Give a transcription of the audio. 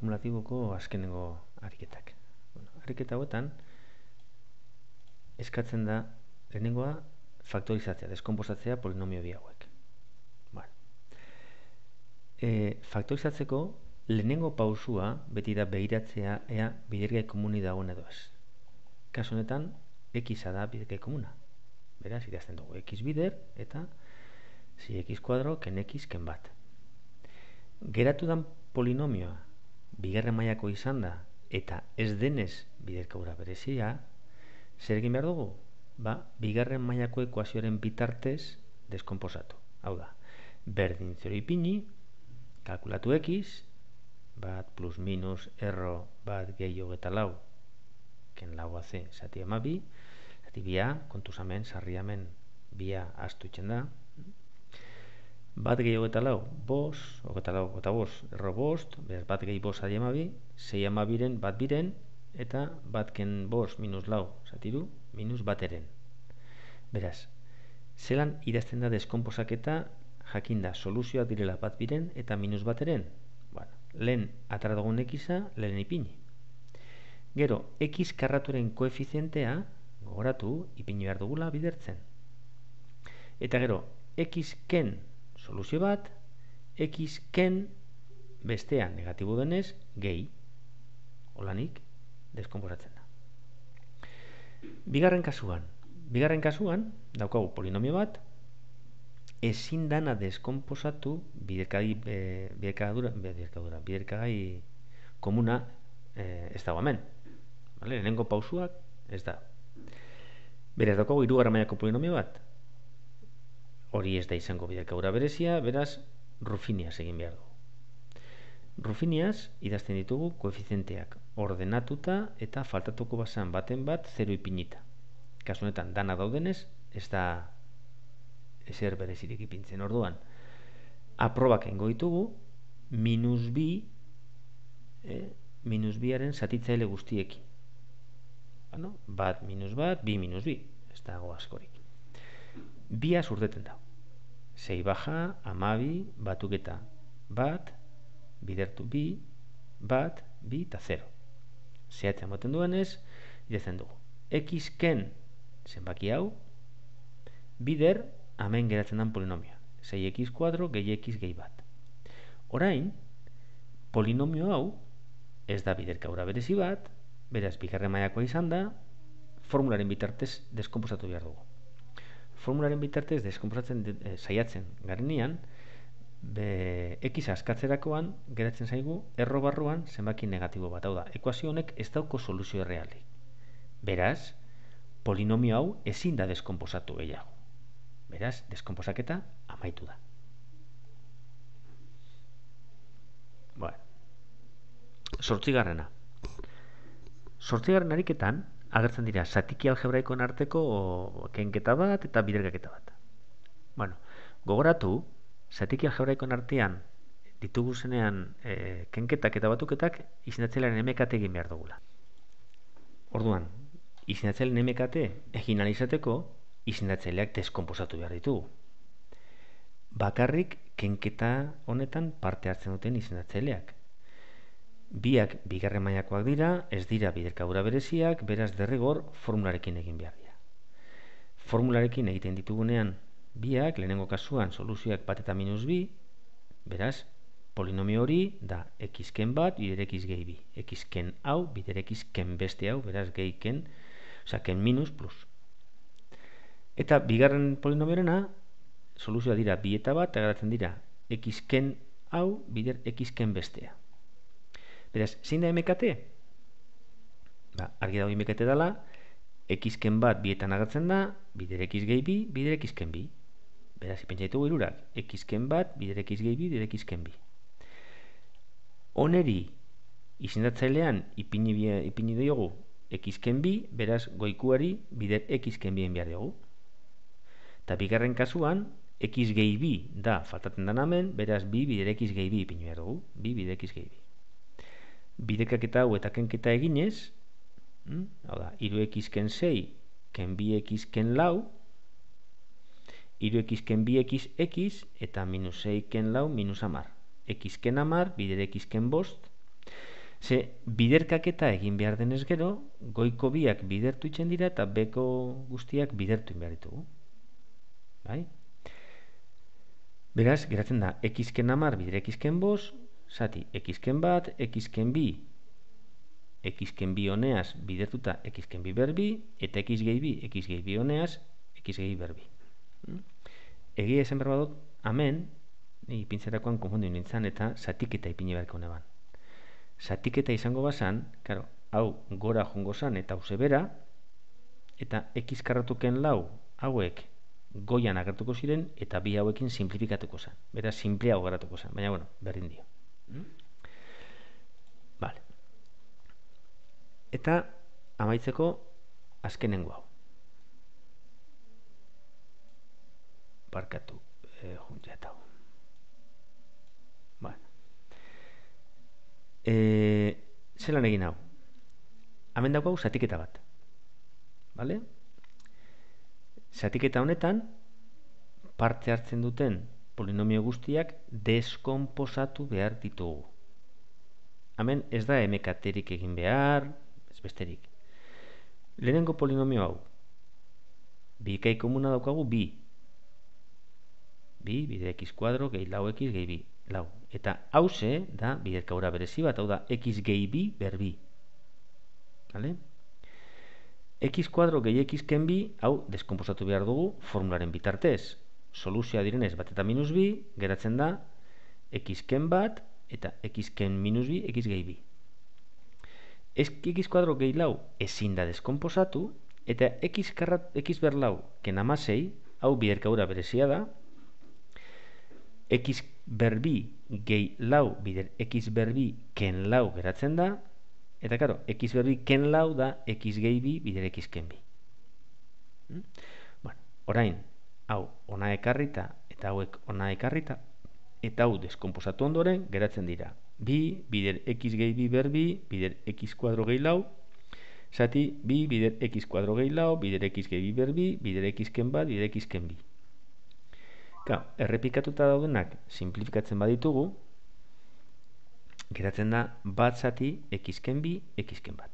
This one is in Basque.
kumulatiboko azkenengo ariketak. Ariketa hauetan eskatzen da lehenengoa faktorizatzea, deskonposatzea polinomio bi hauek. Faktorizatzeko lehenengo pausua beti da behiratzea ea bidergai komuni dagoen edo ez. Kasu honetan, x da bidergai komuna. Beraz, idazten dugu x bider eta si x kuadro ken x ken bat. Geratu dan polinomioa bigarren mailako izan da eta ez denez biderkaura berezia, zer egin behar dugu? Bigarren mailako ekuazioaren bitartez deskonposatu. Hau da, berdin 0 ipini, kalkulatu x, bat plus minus erro bat gehi hogeta lau, ken lau AC zati ama bi, zati bia, kontuzamen, sarriamen bia astuitzen da, bat gehi hogeta lau, bos, hogeta lau, hogeta bos, erro bost, beraz bat gehi bos zati ama bi, zei ama biren, bat biren, eta bat ken bos minus lau, zati du, minus bateren. Beraz, zelan idazten da deskonposaketa jakinda soluzioak direla bat biren eta minus bateren. Lehen atara dugun x-a, lehen ipini. Gero, x karraturen koefizientea, gogoratu, ipini behar dugula bidertzen. Eta gero, x ken soluzio bat, x ken bestea negatibo denez, gehi. Holanik, deskonposatzen da. Bigarren kasuan, daukagu polinomio bat, ezin dana deskonposatu biderkagai komuna ez dago hemen. Lehenengo pausuak ez da. Beraz, daukagu hirugarren mailako polinomio bat. Hori ez da izango biderkaura berezia, beraz, Rufiniaz egin behar dugu. Rufiniaz idazten ditugu koefizienteak ordenatuta eta faltatuko bazan baten bat 0 ipinita. Kasu honetan, dana daudenez, ez da ezer berezirik ipintzen. Orduan, aprobak engo ditugu minus biaren zatitzaile guztiekin. Bat minus bat, bi minus bi. Ez dago askorik. Bia urdeten da. Zei baja, amabi, batuketa bat, bidertu bi, bat, bi eta 0. Zehatzen moten duenez, idazten dugu. X ken zenbaki hau, bider hemen geratzen den polinomioa. 6x kuadro gehi x gehi bat. Orain, polinomio hau ez da biderkaura berezi bat, beraz, bigarren mailakoa izan da, formularen bitartez deskonposatu behar dugu. Formularen bitartez deskonposatzen saiatzen garenean, x askatzerakoan geratzen zaigu erro barruan zenbaki negatibo bat. Hau da, ekuazio honek ez dauko soluzio errealik. Beraz, polinomio hau ezin da deskonposatu gehiago. Beraz, deskonposaketa amaitu da. Zortzigarrena ariketan agertzen dira zatiki algebraikoen arteko kenketa bat eta biderkaketa bat. Gogoratu, zatiki algebraikoen artean ditugu zenean kenketak eta batuketak izendatzailearen MKT egin behar dugula. Orduan, izendatzailearen MKT egin alizateko izendatzaileak deskonposatu behar ditugu. Bakarrik kenketa honetan parte hartzen duten izendatzaileak. Biak bigarren mailakoak dira, ez dira biderkadura bereziak, beraz derrigor formularekin egin behar dira. Formularekin egiten ditugunean biak, lehenengo kasuan soluzioak bat eta minus bi, beraz, polinomio hori da x ken bat, bider x gehi bi. X ken hau, bider x ken beste hau, beraz gehi ken, ken minus plus. Eta bigarren polinomiorena, soluzioa dira bi eta bat, eta geratzen dira x ken hau, bider x ken bestea. Beraz, zein da MKT? Argi dago MKT dela, x ken bat bietan agertzen da, bider x gehi bi, bider x ken bi. Beraz, ipentsa ditugu hirurak, x ken bat, bider x gehi bi, bider x ken bi. Oneri, izendatzailean ipini diogu x ken bi, beraz, goikuari bider x ken bien behar diogu. Eta bigarren kasuan, x gehi bi da faltatzen den hemen, beraz, bi bider x gehi bi ipini behar dugu, bi bider x gehi bi. Biderkaketa hau eta kenketa eginez, hau da, 3x ken 6, ken 2x ken lau, 3x ken 2x x, eta minus 6 ken lau, minus 10. X ken 10, bider x ken bost, Ze biderkaketa egin behar denez gero, goiko biak bidertu itzen dira eta beko guztiak bidertu behar ditugu. Bai? Beraz, geratzen da, ekizken 10 bider ekizken 5, zati, ekizken 1, ekizken 2, ekizken 2 honeaz bidertuta ekizken 2 berbi, eta ekiz gehi 2, ekiz gehi 2 honeaz, ekiz gehi berbi. Egia esan behar badut, hemen, ipintzerakoan konfundu nintzen eta zatiketa ipini beharko neban. Zatiketa izango bazan, claro, hau gora jongo zan eta hau zebera, eta ekiz karratuken 4 hauek goian agertuko ziren eta bi hauekin simplifikatuko zen. Beraz, simpleago geratuko zen, baina, bueno, berdin dio. Vale. Eta, amaitzeko, azkenengo hau. Barkatu, juntzea hau. Vale. Zelan egin hau? Hemen dago hau zatiketa bat. Vale? Zatiketa honetan, parte hartzen duten polinomio guztiak deskonposatu behar ditugu. Hemen ez da emekaterik egin behar, ez besterik. Lehenengo polinomio hau, bikai komuna daukagu 2. 2 bider x kuadro gehi lau x gehi 2, lau. Eta hauze da biderkaura berezi bat, hau da x gehi 2 ber 2. Vale? X kuadro gehi xken 2, hau deskonposatu behar dugu formularen bitartez. Soluzioa direnez bat eta minus 2, geratzen da xken 1 eta xken minus 2, x gehi 2. X kuadro gehi lau ezin da deskonposatu, eta x ber lau ken 16, hau biderkaura berezia da, x ber 2 gehi lau bider x ber 2 ken lau geratzen da, eta karo, x ber 2 ken lau da x gehi 2 bider x ken 2. Bueno, orain, hau ona ekarrita eta hauek ona ekarrita, eta hau deskonposatu ondoren geratzen dira 2 bider x gehi 2 ber 2 bider x kuadro gehi lau, zati 2 bider x kuadro gehi lau bider x gehi 2 ber 2 bider x ken 1 bider x ken 2. Errepikatuta daudenak simplifikatzen baditugu, geratzen da bat zati xken 2, xken 1.